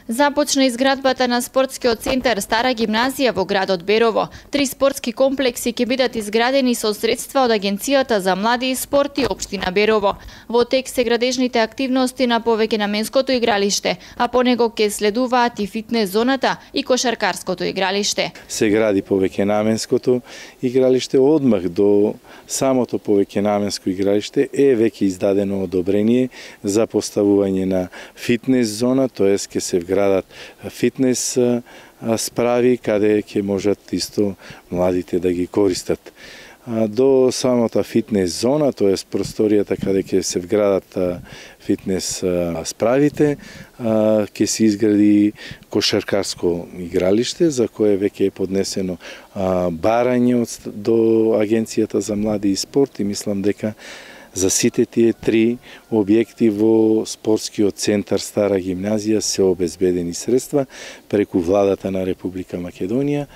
Започна изградбата на спортскиот центар Стара гимназија во градот Берово. 3 спортски комплекси ќе бидат изградени со средства од Агенцијата за млади и спорт и општина Берово. Во тек се градежните активности на повеќенаменското игралиште, а по него ќе следуваат и фитнес зоната и кошаркарското игралиште. Се гради повеќенаменското игралиште, одмах до самото повеќенаменско игралиште е веќе издадено одобрение за поставување на фитнес зона, тоест ќе се градат фитнес справи каде ќе можат исто младите да ги користат. До самата фитнес зона, тоест просторијата каде ќе се вградат фитнес справите, ќе се изгради кошаркарско игралиште за кое веќе е поднесено барање до Агенцијата за млади и спорт и мислам дека за сите тие 3 објекти во спортскиот центар Стара гимназија се обезбедени средства преку владата на Република Македонија,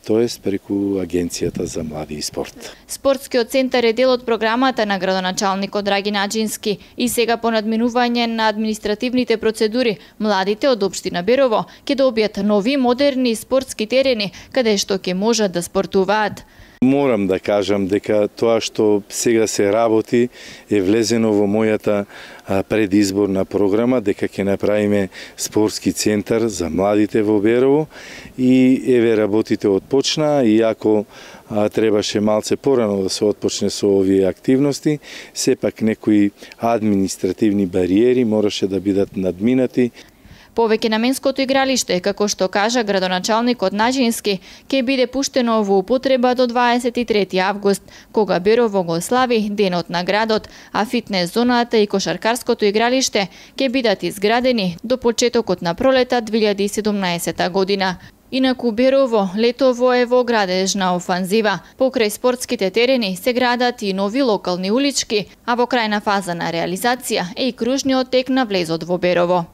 тоест преку Агенцијата за млади и спорт. Спортскиот центар е дел од програмата на градоначалникот Драгин Аџински и сега по надминување на административните процедури, младите од општина Берово ќе добијат нови модерни спортски терени каде што ќе можат да спортуваат. Морам да кажам дека тоа што сега се работи е влезено во мојата предизборна програма, дека ќе направиме спортски центар за младите во Берово и еве работите отпочнаа, иако требаше малце порано да се отпочне со овие активности, сепак некои административни бариери мораше да бидат надминати. Повеќенаменското игралиште, како што кажа градоначалникот Наџински, ќе биде пуштено во употреба до 23 август, кога Берово го слави денот на градот, а фитнес зоната и кошаркарското игралиште ќе бидат изградени до почетокот на пролета 2017 година. Инаку Берово летово е во градежна офанзива. Покрај спортските терени се градат и нови локални улички, а во крајна фаза на реализација е и кружниот тек на влезот во Берово.